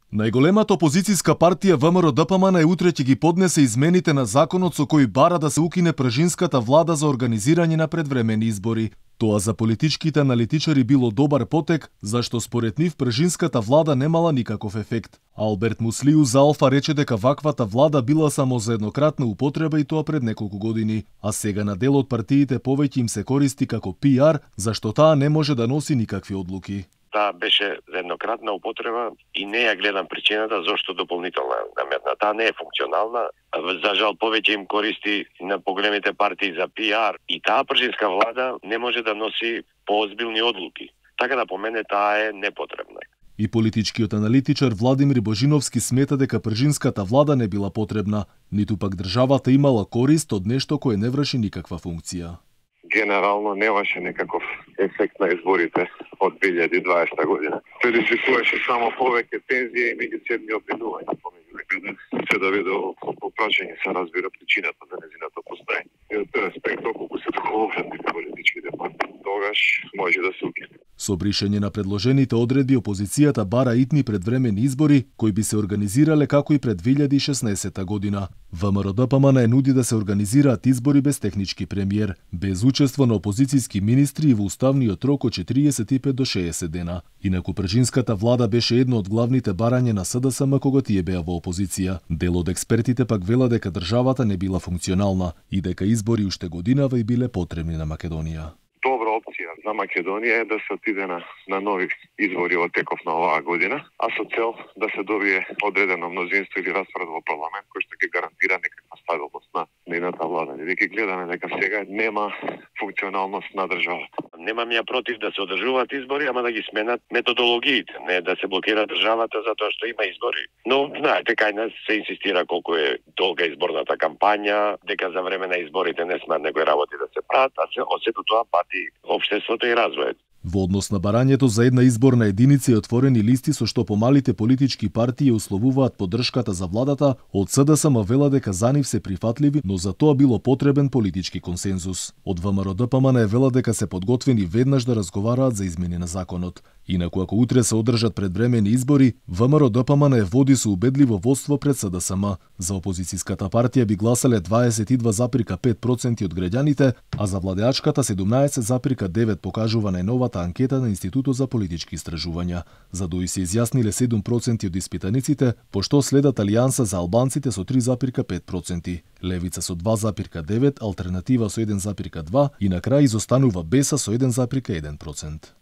Најголемата опозицијска партија ВМРО-ДПМН утре ќе ги поднесе измените на законот со кој бара да се укине пржинската влада за организирање на предвремени избори. Тоа за политичките аналитичари било добар потек, зашто според нив пржинската влада немала никаков ефект. Алберт Муслиу за Алфа рече дека ваквата влада била само за еднократна употреба и тоа пред неколку години, а сега на дел од партиите повеќе им се користи како PR, зашто таа не може да носи никакви одлуки. Таа беше за еднократна употреба и не ја гледам причината зашто дополнителна наметна. Таа не е функционална. За жал повеќе им користи на поголемите партии за PR и таа пржинска влада не може да носи поозбилни одлуки. Така да по мене таа е непотребна. И политичкиот аналитичар Владимир Божиновски смета дека пржинската влада не била потребна, ниту пак државата имала корист од нешто кое не врши никаква функција. Генерално немаше некаков ефект на изборите од 2020 година. Предизвикуваше само повеќе тензија и меѓусебни обвинувања помеѓу луѓето. Се доведе до прашање се разбира причината за нејзиното постоење. И од тој аспект, околку се договорат политичките партии, тогаш може да се укине. Со бришење на предложените одредби, опозицијата бара итни предвремени избори, кои би се организирале како и пред 2016 година. ВМРО-ДПМН нуди да се организираат избори без технички премиер, без учество на опозицијски министри и во уставниот рок од 45 до 60 дена. Инаку пржинската влада беше едно од главните барања на СДСМ кога тие беа во опозиција. Дел од експертите пак вела дека државата не била функционална и дека избори уште годинава и биле потребни на Македонија. Добра опција за Македонија е да се отиде на нови избори во теков на оваа година, а со цел да се добие одредено мнозинство или распоред во парламент кој што ќе гарантира некаква стабилност на нейната влада. Веќе гледаме дека сега нема функционалност на државата. Немам ја против да се одржуваат избори, ама да ги сменат методологиите, не да се блокира државата затоа што има избори. Но знаете кај нас се инсистира колку е долга изборната кампања, дека за време на изборите не смеат некои работи да се прават, а се осето тоа пати општеството и развојот. Во однос на барањето за една изборна единица и отворени листи со што помалите политички партии условуваат поддршката за владата, од СДСМ вела дека за нив се прифатливи, но за тоа било потребен политички консензус. Од ВМРО-ДПМН вела дека се подготвени веднаш да разговараат за измени на законот. Инаку ако утре се одржат предвремени избори, ВМРО-ДПМН води со убедливо водство пред СДСМ. За опозицијската партија би гласале 22,5% од граѓаните, а за владеачката 17,9% покажува најновата анкета на Институтот за политички истражувања. За ДОИ се изјасниле 7% од испитаниците, пошто следат Алијанса за албанците со 3,5%, Левица со 2,9%, Алтернатива со 1,2% и на крај изостанува Беса со 1,1%.